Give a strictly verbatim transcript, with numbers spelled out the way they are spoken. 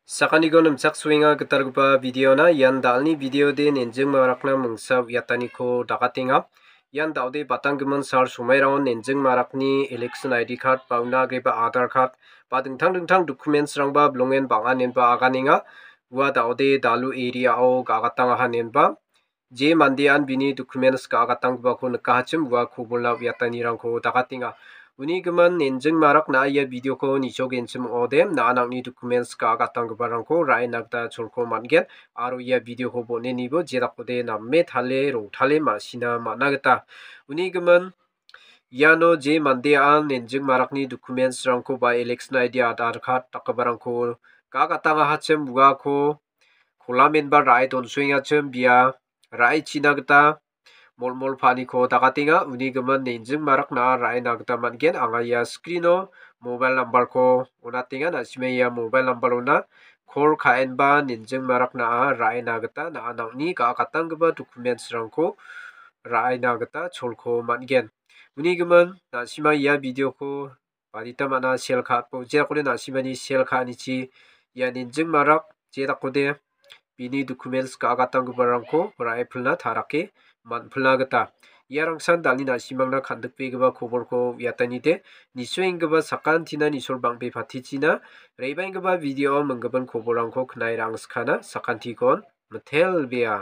Sakantikon nimchaksoenga gitalgipa videona. Ian da·alni videode nenjing marakna mingsa uiataniko dakatenga. Ian da·ode batanggimin sal somairangon nenjing marakni election I D card ba una agreba Aadhaar card ba dingtang dingtang documentsrangba bilongen bang·anenba aganenga. Ua da·ode Dalu area-o ga·gatangahanenba je mandean bini documents ga·gatanggipako nikahachim ua kobolna uiatanirangko dakatenga. Uni gimin nenjing marak na·a ia videoko nichogenchim ong·ode, na·a nang·ni documents ga·gatanggiparangko ra·ena gita cholko man·gen aro ia videoko bon·enibo jedakode name tale rongtale ma·sina man·a gita. Uni gimin iano je mandean nenjing marakni documentsrangko ba election I D, Aadhaar card dakgiparangko ga·gatangahachim uako kolamenba ra·e donsoengachim bia ra·e china gita molmol pa·aniko dakatenga. Uni gimin nenjing marak na·a ra·ena gita man·gen. Anga ia screeno mobile numberko on·atenga. Na·sima ia mobile numberona call ka·enba nenjing marak na·a ra·ena gita na·a nang·ni ga·gatanggipa documentsrangko ra·ena gita cholko man·gen. Uni gimin na·sima ia videoko badita man·a sel ka·atbo, jedakode na·simani sel ka·anichi ia nenjing marak jedakode bini documents ga·gatanggiparangko ra·e pilna tarake man·pilna gita. Iarangsan da·alni na·simangna kan·dikbegipa kobolko uiatanide, nisoenggipa sakantina nisol bang·bepatichina re·baenggipa video minggipin kobolrangko knae ra·angskana. Sakantikon mitelbea.